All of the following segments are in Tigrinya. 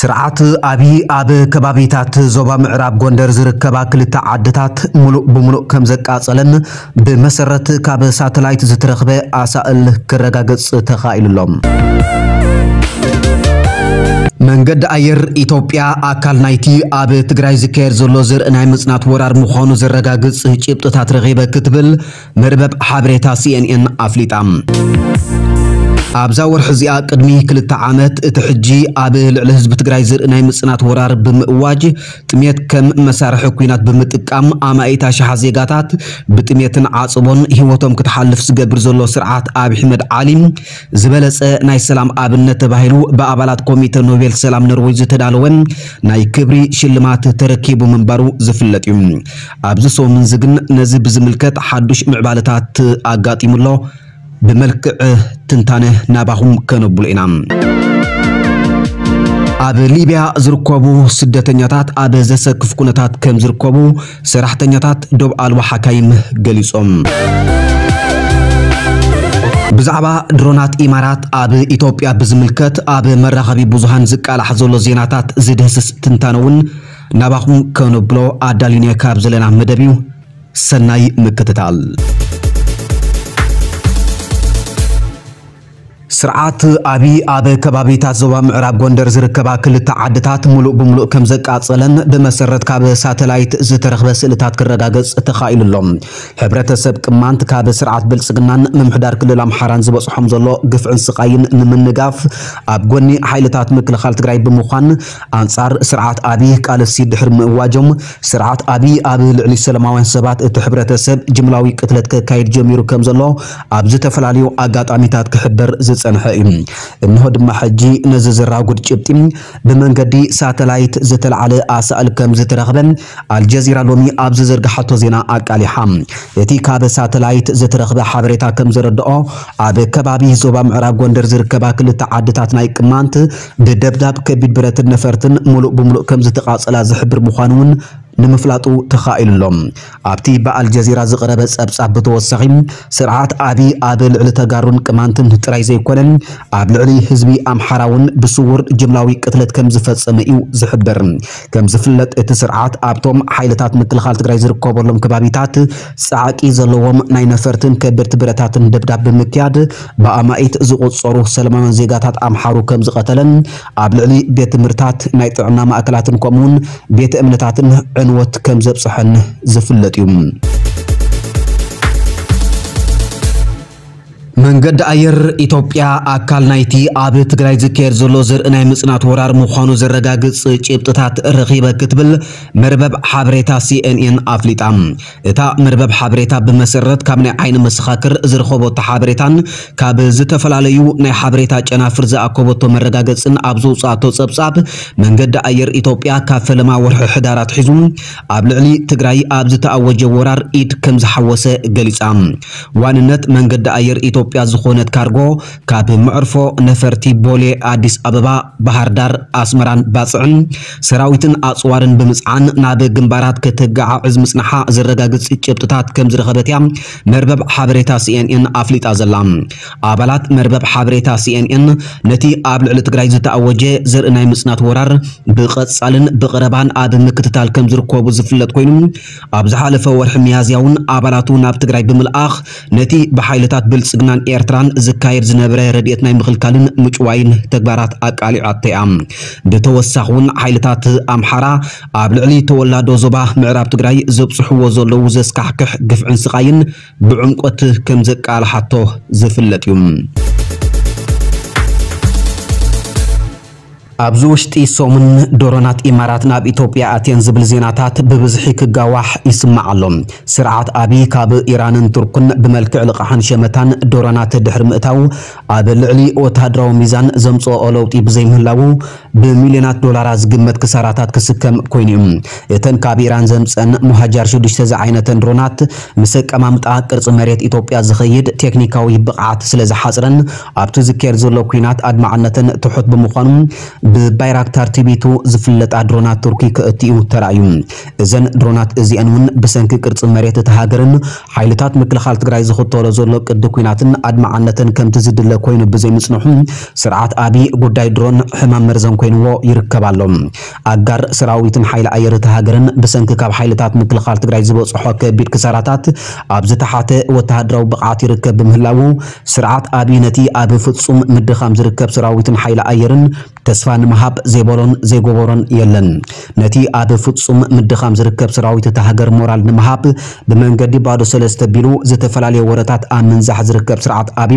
ስርዓት ኣብይ ኣብ ከባቢታት ዞባ ምዕራብ ጎንደር ዝርከባ ክልተ ዓድታት ሙሉእ ብሙሉእ ከም ዘቃጸለን ብመሰረት ካብ ሳተላይት ዝተረኽበ ኣሳእል ክረጋገጽ ተኻኢሉ ኣሎ። መንገዲ ኣየር ኢትዮጵያ ኣካል ናይቲ ኣብ ትግራይ ዝካየድ ዘሎ ዘርኢ ናይ ምጽናት ወራር ምዃኑ ዘረጋግጽ ጭብጥታት ረኺበ ክትብል መርበብ ሓበሬታ ሲኤንኤን ኣፍሊጣ። ኣብዛ ወርሒ እዚኣ ቅድሚ ክልተ ዓመት እቲ ሕጂ ኣብ ልዕሊ ህዝቢ ትግራይ ዘርኢ ናይ ምጽናት ወራር ብምእዋጅ ጥሜት ከም መሳርሒ ኲናት ብምጥቃም ኣማኢት ኣሽሓት ዜጋታት ብጥሜትን ዓጽቦን ህይወቶም ክትሓልፍ ዝገብር ዘሎ ስርዓት ኣብይ ኣሕመድ ዓሊ ዝበለጸ ናይ ሰላም ኣብነት ተባሂሉ ብኣባላት ኮሚተ ኖቤል ሰላም ኖርዌይ ዝተዳለወ ናይ ክብሪ ሽልማት ተረኪቡ ምንባሩ ዝፍለጥ እዩ። ኣብዚ ሰሙን እዚ ግን ነዚ ብዝምልከት ሓዱሽ ምዕባለታት ኣጋጢሙ ኣሎ። ብመልክዕ ትንታነ ናባኹም ከነብሎ ኢና። ኣብ ሊብያ ዝርከቡ ስደተኛታት ኣብ ዘሰክፍ ኩነታት ከም ዝርከቡ ሰራሕተኛታት ዶብ ኣልቦ ሓካይም ገሊጾም። ብዛዕባ ድሮናት ኢማራት ኣብ ኢትዮጵያ ብዝምልከት ኣብ መራኸቢ ብዙሃን ዝቃላሕ ዘሎ ዜናታት ዝድህስስ ትንታነ እውን ናባኹም ከነብሎ ኣዳሊናዮ ካብ ዘለና መደብ እዩ። ሰናይ ምክትታል። ስርዓት ኣብይ ኣብ ከባቢታት ዞባ ምዕራብ ጎንደር ዝርከባ ክልተ ዓድታት ሙሉእ ብሙሉእ ከም ዘቃጸለን ብመሰረት ካብ ሳተላይት ዝተረኽበ ስእልታት ክረጋገጽ ተኻኢሉ ኣሎ። ሕብረተሰብ ቅማንት ካብ ስርዓት ብልጽግናን ምምሕዳር ክልል ኣምሓራን ዝበጽሖም ዘሎ ግፍዕን ስቓይን ንምንጋፍ ኣብ ጎኒ ሓይልታት ምክልኻል ትግራይ ብምዃን ኣንጻር ስርዓት ኣብይ ቃልሲ ድሕሪ ምእዋጆም ስርዓት ኣብይ ኣብ ልዕሊ ሰላማውያን ሰባት እቲ ሕብረተሰብ ጅምላዊ ቅትለት ከካይድ ጀሚሩ ከም ዘሎ ኣብ ዝተፈላለዩ ኣጋጣሚታት ክሕበር ዝጸንሐ እዩ። እንሆ ድማ ሕጂ ነዚ ዘራጉድ ጭብጢ ብመንገዲ ሳተላይት ዝተላዕለ ኣሳእል ከም ዝተረኽበ ኣልጀዚራ ሎሚ ኣብ ዝዘርግሓቶ ዜና ኣቃሊሓ። እቲ ካብ ሳተላይት ዝተረኽበ ሓበሬታ ከም ዘረድኦ ኣብ ከባቢ ዞባ ምዕራብ ጎንደር ዝርከባ ክልተ ዓድታት ናይ ቅማንት ብደብዳብ ከቢድ ብረትን ነፈርትን ሙሉእ ብሙሉእ ከም ዝተቓጸላ ዝሕብር ምዃኑ እውን ንምፍላጡ ተኻኢሉ ኣሎ። ኣብቲ ብኣልጀዚራ ዝቐረበ ጸብጻብ ብተወሳኺ ስርዓት ኣብይ ኣብ ልዕሊ ተጋሩን ቅማንትን ጥራይ ዘይኮነ ኣብ ልዕሊ ህዝቢ ኣምሓራ እውን ብስውር ጅምላዊ ቅትለት ከም ዝፈጸመ እዩ ዝሕበር። ከም ዝፍለጥ እቲ ስርዓት ኣብቶም ሓይልታት ምክልኻል ትግራይ ዝርከበሎም ከባቢታት ጻዕቂ ዘለዎም ናይ ነፈርትን ከበድቲ ብረታትን ደብዳብ ብምክያድ ብኣማኢት ዝቑጸሩ ሰላማውያን ዜጋታት ኣምሓሩ ከም ዝቐተለን ኣብ ልዕሊ ቤት ትምህርታት ናይ ጥዕና ማእከላትን ከምኡውን ቤተ እምነታትን ዕንወት ከም ዘብጽሐን ዝፍለጥ እዩ። መንገዲ ኣየር ኢትዮጵያ ኣካል ናይቲ ኣብ ትግራይ ዝካየድ ዘሎ ዘርኢ ናይ ምጽናት ወራር ምዃኑ ዘረጋግጽ ጭብጥታት ረኺበ ክትብል መርበብ ሓበሬታ ሲኤንኤን ኣፍሊጣ። እታ መርበብ ሓበሬታ ብመሰረት ካብ ናይ ዓይኒ መሰኻክር ዝረኸበቶ ሓበሬታን ካብ ዝተፈላለዩ ናይ ሓበሬታ ጨናፍር ዝኣከበቶ መረጋገጽን ኣብ ዘውጽኣቶ ጸብጻብ መንገዲ ኣየር ኢትዮጵያ ካብ ፈለማ ወርሒ ሕዳር ኣትሒዙ ኣብ ልዕሊ ትግራይ ኣብ ዝተኣወጀ ወራር ኢድ ከም ዝሓወሰ ገሊጻ። ዋንነት መንገዲ ኣየር ኢትዮጵያ ዝኾነት ካርጎ ካብ መዕርፎ ነፈርቲ ቦሌ ኣዲስ ኣበባ፣ ባህር ዳር፣ ኣስመራን ባጽዕን ሰራዊትን ኣጽዋርን ብምጽዓን ናብ ግንባራት ከተጋዓዕዝ ምጽንሓ ዘረጋግጽ ጭብጥታት ከም ዝረኸበት እያ መርበብ ሓበሬታ ሲኤንኤን ኣፍሊጣ ዘላ። ኣባላት መርበብ ሓበሬታ ሲኤንኤን ነቲ ኣብ ልዕሊ ትግራይ ዝተኣወጀ ዘርኢ ናይ ምጽናት ወራር ብቐጻልን ብቐረባን ኣብ ምክትታል ከም ዝርከቡ ዝፍለጥ ኮይኑ፣ ኣብ ዝሓለፈ ወርሒ ሚያዝያ እውን ኣባላቱ ናብ ትግራይ ብምልኣኽ ነቲ ብሓይልታት ብልጽግናን ኤርትራን ዝካየድ ዝነበረ ረድኤት ናይ ምኽልካልን ምጭዋይን ተግባራት ኣቃሊዓቶ እያ። ብተወሳኺ እውን ሓይልታት ኣምሓራ ኣብ ልዕሊ ተወላዶ ዞባ ምዕራብ ትግራይ ዘብጽሕዎ ዘለዉ ዘስካሕክሕ ግፍዕን ስቓይን ብዕምቆት ከም ዘቃልሓቶ ዝፍለጥ እዩ። ኣብዚ ውሽጢ ሰሙን ድሮናት ኢማራት ናብ ኢትዮጵያ ኣትየን ዝብል ዜናታት ብብዝሒ ክጋዋሕ ይስማዕ ኣሎ። ስርዓት ኣብይ ካብ ኢራንን ቱርክን ብመልክዕ ልቓሕን ሸመታን ድሮናት ድሕሪ ምእታው ኣብ ልዕሊ ወተሃደራዊ ሚዛን ዘምጽኦ ለውጢ ብዘይምህላዉ ብሚልዮናት ዶላራት ዝግመት ክሳራታት ክስከም ኮይኑ እዩ። እተን ካብ ኢራን ዘምጸን ሙሃጃር ሽዱሽተ ዝዓይነተን ድሮናት ምስ ኣቀማምጣ ቅርጺ መሬት ኢትዮጵያ ዝኸይድ ቴክኒካዊ ብቕዓት ስለ ዝሓጽረን ኣብቲ ዝካየድ ዘሎ ኲናት ኣድማዕነተን ትሑት ብምዃኑ ብባይራክታር ትቢቱ ዝፍለጣ ድሮናት ቱርኪ ከእትዩ ተራእዩ። እዘን ድሮናት እዚአን እውን ብሰንኪ ቅርጺ መሬት እታ ሃገርን ሓይልታት ምክልኻል ትግራይ ዝኽተሎ ዘሎ ቅዲ ኲናትን ኣድማዕነተን ከምቲ ዝድለ ኮይኑ ብዘይምጽንሑ፣ ስርዓት ኣቢ ጉዳይ ድሮን ሕማም መርዘን ኮይንዎ ይርከብ ኣሎ። ኣጋር ሰራዊትን ሓይሊ ኣየር እታ ሃገርን ብሰንኪ ካብ ሓይልታት ምክልኻል ትግራይ ዝበጽሖ ከቢድ ክሳራታት ኣብ ዝተሓተ ወተሃደራዊ ብቕዓት ይርከብ ብምህላዉ፣ ስርዓት ኣቢ ነቲ ኣብ ፍጹም ምድኻም ዝርከብ ሰራዊትን ሓይሊ ኣየርን ተስፋ ንምሃብ ዘይበሎን ዘይገበሮን የለን። ነቲ ኣብ ፍጹም ምድኻም ዝርከብ ሰራዊት እታ ሃገር ሞራል ንምሃብ ብመንገዲ ባዶ ሰለስተ ቢሉ ዝተፈላለየ ወረታት ኣብ ምንዛሕ ዝርከብ ስርዓት ኣቢ፣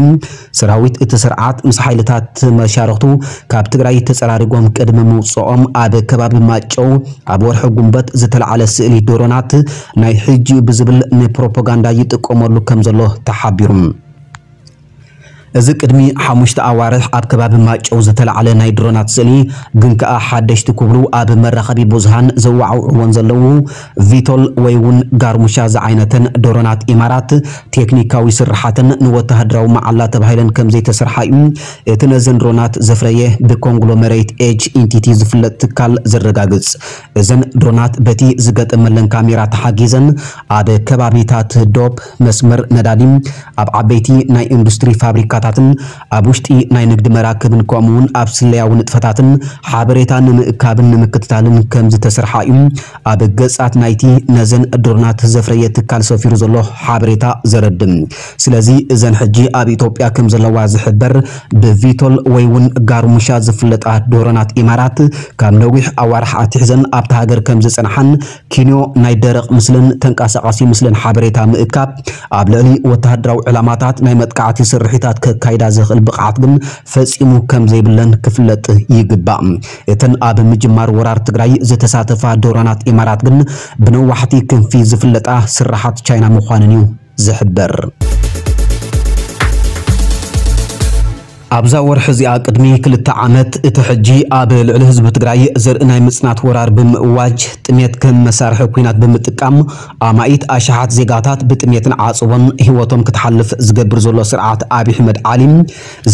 ሰራዊት እቲ ስርዓት ምስ ሓይልታት መሻርኽቱ ካብ ትግራይ ተጸራሪጎም ቅድሚ ምውጽኦም ኣብ ከባቢ ማጨው ኣብ ወርሒ ጉንበት ዝተላዕለ ስእሊ ድሮናት ናይ ሕጂ ብዝብል ንፕሮፓጋንዳ ይጥቀመሉ ከም ዘሎ ተሓቢሩ። እዚ ቅድሚ ሓሙሽተ ኣዋርሕ ኣብ ከባቢ ማጨው ዝተላዕለ ናይ ድሮናት ስእሊ ግን ከኣ ሓደሽቲ ክብሉ ኣብ መራኸቢ ብዙሃን ዘወዓውዕወን ዘለዉ ቪቶል ወይ እውን ጋርሙሻ ዝዓይነተን ድሮናት ኢማራት ቴክኒካዊ ስርሓተን ንወተሃደራዊ መዓላ ተባሂለን ከም ዘይተሰርሓ እዩ እቲ ነዘን ድሮናት ዘፍረየ ብኮንግሎመሬት ኤጅ ኢንቲቲ ዝፍለጥ ትካል ዘረጋግጽ። እዘን ድሮናት በቲ ዝገጠመለን ካሜራ ተሓጊዘን ኣብ ከባቢታት ዶብ፣ መስመር ነዳዲ፣ ኣብ ዓበይቲ ናይ ኢንዱስትሪ ፋብሪካታትን ኣብ ውሽጢ ናይ ንግዲ መራክብን ከምኡውን ኣብ ስለያዊ ንጥፈታትን ሓበሬታ ንምእካብን ንምክትታልን ከም ዝተሰርሓ እዩ ኣብ ገጻት ናይቲ ነዘን ድሮናት ዘፍረየ ትካል ሰፊሩ ዘሎ ሓበሬታ ዘረድም። ስለዚ እዘን ሕጂ ኣብ ኢትዮጵያ ከም ዘለዋ ዝሕበር ብቪቶል ወይ እውን ጋርሙሻ ዝፍለጣ ድሮናት ኢማራት ካብ ነዊሕ ኣዋርሕ ኣትሒዘን ኣብታ ሃገር ከም ዝጸንሓን ኪንዮ ናይ ደረቕ ምስልን ተንቀሳቓሲ ምስልን ሓበሬታ ምእካብ ኣብ ልዕሊ ወተሃደራዊ ዕላማታት ናይ መጥቃዕቲ ስርሒታት ከካይዳ ዝኽእል ብቕዓት ግን ፈጺሙ ከም ዘይብለን ክፍለጥ ይግባእ። እተን ኣብ ምጅማር ወራር ትግራይ ዝተሳተፋ ድሮናት ኢማራት ግን ብነዋሕቲ ክንፊ ዝፍለጣ ስራሓት ቻይና ምዃነን እዩ ዝሕበር። ኣብዛ ወርሒ እዚኣ ቅድሚ ክልተ ዓመት እቲ ሕጂ ኣብ ልዕሊ ህዝቢ ትግራይ ዘርኢ ናይ ምጽናት ወራር ብምእዋጅ ጥሜት ከም መሳርሒ ኲናት ብምጥቃም ኣማኢት ኣሽሓት ዜጋታት ብጥሜትን ዓጽቦን ህይወቶም ክትሓልፍ ዝገብር ዘሎ ስርዓት ኣብይ ኣሕመድ ዓሊ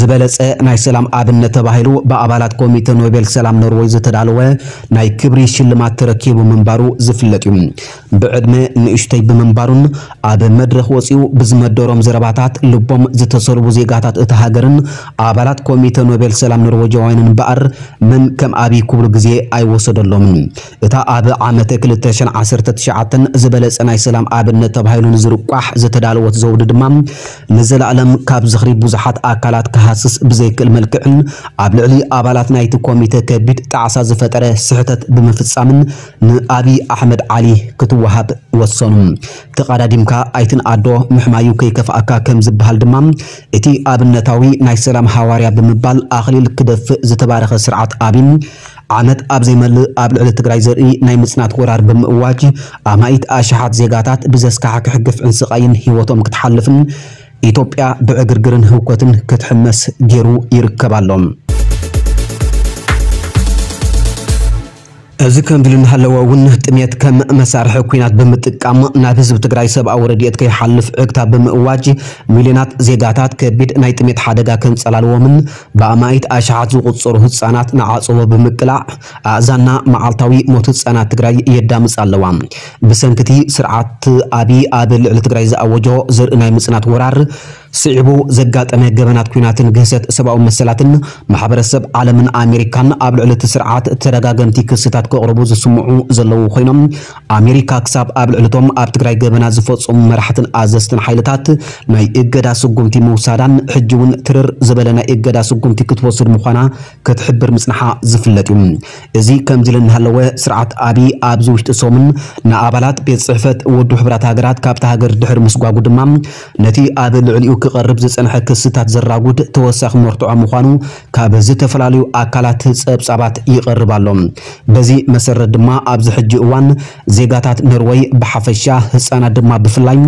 ዝበለጸ ናይ ሰላም ኣብነት ተባሂሉ ብኣባላት ኮሚተ ኖቤል ሰላም ኖርወይ ዝተዳለወ ናይ ክብሪ ሽልማት ተረኪቡ ምንባሩ ዝፍለጥ እዩ። ብዕድመ ንእሽተይ ብምንባሩን ኣብ መድረኽ ወጺኡ ብዝመደሮም ዘረባታት ልቦም ዝተሰልቡ ዜጋታት እታ ሃገርን ኣባላት ኮሚተ ኖቤል ሰላም ኖርወጃውያንን እምበኣር መን ከም ኣብይ ክብሉ ግዜ ኣይወሰደሎምን። እታ ኣብ ዓመተ ክልተ ሽሕን ዓሰርተ ትሽዓተን ዝበለጸ ናይ ሰላም ኣብነት ተባሂሉ ንዝርቋሕ ዝተዳለወት ዘውዲ ድማ ንዘለኣለም ካብ ዝኽሪ ብዙሓት ኣካላት ክሃስስ ብዘይክእል መልክዕን ኣብ ልዕሊ ኣባላት ናይቲ ኮሚተ ከቢድ ጣዕሳ ዝፈጠረ ስሕተት ብምፍጻምን ንኣብይ ኣሕመድ ዓሊ ክትወሃብ ወሰኑ። ተቓዳዲምካ ኣይትንኣዶ ምሕማዩ ከይከፍኣካ ከም ዝበሃል ድማ እቲ ኣብነታዊ ናይ ሰላም ሃዋርያ ብምባል ኣኽሊል ክደፍእ ዝተባረኸ ስርዓት ኣብይ ዓመት ኣብ ዘይመልእ ኣብ ልዕሊ ትግራይ ዘርኢ ናይ ምጽናት ወራር ብምእዋጅ ኣማኢት ኣሽሓት ዜጋታት ብዘስካሕክሕ ግፍዕን ስቓይን ህይወቶም ክትሓልፍን ኢትዮጵያ ብዕግርግርን ህውከትን ክትሕመስ ገይሩ ይርከብ ኣሎ። እዚ ከምዚ ኢሉ እናሃለወ እውን ጥሜት ከም መሳርሒ ኲናት ብምጥቃም ናብ ህዝቢ ትግራይ ሰብኣዊ ረድኤት ከይሓልፍ ዕግታ ብምእዋጅ ሚልዮናት ዜጋታት ከቢድ ናይ ጥሜት ሓደጋ ከንጸላልዎምን ብኣማኢት ኣሽሓት ዝቑጸሩ ህጻናት ንዓጸቦ ብምቅላዕ ኣእዛንና መዓልታዊ ሞት ህጻናት ትግራይ የዳምጻ ኣለዋ። ብሰንኪ እቲ ስርዓት ኣብይ ኣብ ልዕሊ ትግራይ ዝኣወጆ ዘርኢ ናይ ምጽናት ወራር ስዒቡ ዘጋጠመ ገበናት ኲናትን ግህሰት ሰብኣዊ መሰላትን ማሕበረሰብ ዓለምን ኣሜሪካን ኣብ ልዕሊ እቲ ስርዓት ተደጋገምቲ ክስታት ከቕርቡ ዝስምዑ ዘለዉ ኮይኖም ኣሜሪካ ክሳብ ኣብ ልዕሊ እቶም ኣብ ትግራይ ገበናት ዝፈጸሙ መራሕትን ኣዘዝትን ሓይልታት ናይ እገዳ ስጉምቲ ምውሳዳን ሕጂ እውን ትርር ዝበለ ናይ እገዳ ስጉምቲ ክትወስድ ምዃና ክትሕብር ምጽንሓ ዝፍለጥ እዩ። እዚ ከምዚ ኢሉ እናሃለወ ስርዓት ኣብይ ኣብዚ ውሽጢ ሰሙን ንኣባላት ቤት ጽሕፈት ውድብ ሕቡራት ሃገራት ካብታ ሃገር ድሕሪ ምስጓጉ ድማ ነቲ ኣብ ልዕሊኡ ክቐርብ ዝጸንሐ ክስታት ዘራጉድ ተወሳኺ መርትዖ ምዃኑ ካብ ዝተፈላለዩ ኣካላት ጸብጻባት ይቐርብ ኣሎ። በዚ መሰረት ድማ ኣብዚ ሕጂ እዋን ዜጋታት ኖርወይ ብሓፈሻ ህጻናት ድማ ብፍላይ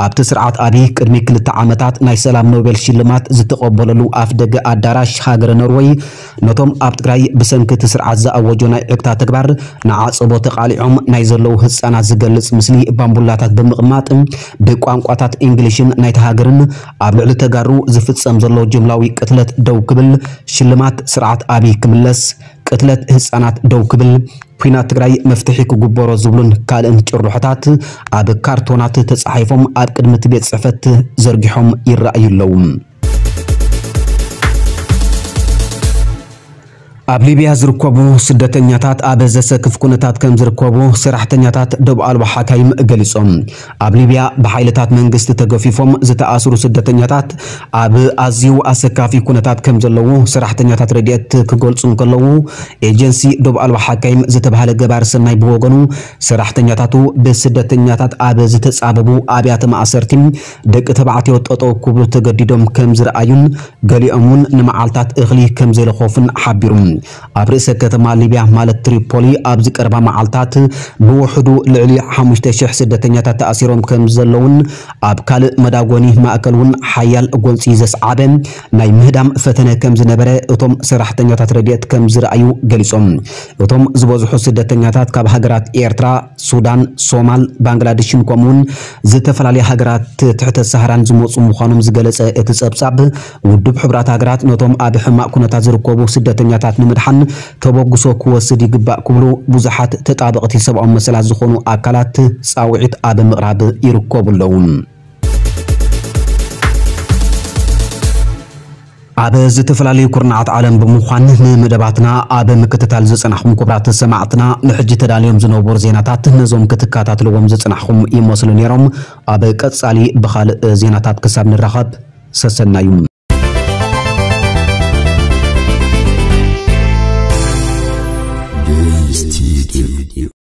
ኣብቲ ስርዓት ኣብይ ቅድሚ ክልተ ዓመታት ናይ ሰላም ኖቤል ሽልማት ዝተቐበለሉ ኣፍደገ ኣዳራሽ ሃገረ ኖርወይ ነቶም ኣብ ትግራይ ብሰንኪ እቲ ስርዓት ዝኣወጆ ናይ ዕግታ ተግባር ንዓጸቦ ተቓሊዖም ናይ ዘለዉ ህጻናት ዝገልጽ ምስሊ ባምቡላታት ብምቕማጥ ብቋንቋታት እንግሊሽን ናይቲ ሃገርን ኣብ ልዕሊ ተጋሩ ዝፍጸም ዘሎ ጅምላዊ ቅትለት ደው ክብል ሽልማት ስርዓት ኣብይ ክምለስ ቅትለት ህፃናት ደው ክብል፣ ኩናት ትግራይ መፍትሒ ክግበሮ ዝብሉን ካልእን ጭርሖታት ኣብ ካርቶናት ተፃሒፎም ኣብ ቅድሚ እቲ ቤት ፅሕፈት ዘርጊሖም ይረኣዩ ኣለዉ። ኣብ ሊብያ ዝርከቡ ስደተኛታት ኣብ ዘሰክፍ ኩነታት ከም ዝርከቡ ሰራሕተኛታት ደብ ኣልባ ሓካይም ገሊጾም። ኣብ ሊብያ ብሓይልታት መንግስቲ ተገፊፎም ዝተኣስሩ ስደተኛታት ኣብ ኣዝዩ ኣሰካፊ ኩነታት ከም ዘለዉ ሰራሕተኛታት ረድኤት ክገልጹ እንከለዉ፣ ኤጀንሲ ደብ ኣልባ ሓካይም ዝተባህለ ገባር ሰናይ ብወገኑ፣ ሰራሕተኛታቱ ብስደተኛታት ኣብ ዝተጻበቡ ኣብያተ ማእሰርቲ ደቂ ተባዕትዮ ጠጠው ክብሉ ተገዲዶም ከም ዝረኣዩን ገሊኦም እውን ንመዓልታት እኽሊ ከም ዘይለኾፉን ሓቢሩ። ኣብ ርእሰ ከተማ ሊብያ ማለት ትሪፖሊ ኣብ ዝቀርባ መዓልታት ብውሕዱ ልዕሊ ሓሙሽተ ሽሕ ስደተኛታት ተኣሲሮም ከም ዘለውን ኣብ ካልእ መዳጎኒ ማእከል እውን ሓያል ጎንፂ ዘስዓበ ናይ ምህዳም ፈተነ ከም ዝነበረ እቶም ሰራሕተኛታት ረድኤት ከም ዝረኣዩ ገሊጾም። እቶም ዝበዝሑ ስደተኛታት ካብ ሃገራት ኤርትራ፣ ሱዳን፣ ሶማል፣ ባንግላዴሽን ከምኡውን ዝተፈላለያ ሃገራት ትሕተ ሰሃራን ዝመጹ ምዃኖም ዝገለጸ እቲ ጸብጻብ፣ ውድብ ሕቡራት ሃገራት ነቶም ኣብ ሕማቕ ኩነታት ዝርከቡ ስደተኛታት ንምድሓን ተበግሶ ክወስድ ይግባእ ክብሉ ብዙሓት ተጣበቕቲ ሰብኣዊ መሰላት ዝኾኑ ኣካላት ጻውዒት ኣብ ምቕራብ ይርከቡ ኣለዉ። ኣብ ዝተፈላለዩ ኩርናዓት ዓለም ብምዃን ንመደባትና ኣብ ምክትታል ዝጸናሕኩም ክቡራት ሰማዕትና፣ ንሕጂ ተዳልዮም ዝነበሩ ዜናታት ነዞም ክትከታተልዎም ዝጸናሕኩም ይመስሉ ነይሮም። ኣብ ቀጻሊ ብኻልእ ዜናታት ክሳብ ንራኸብ ሰሰናዩ።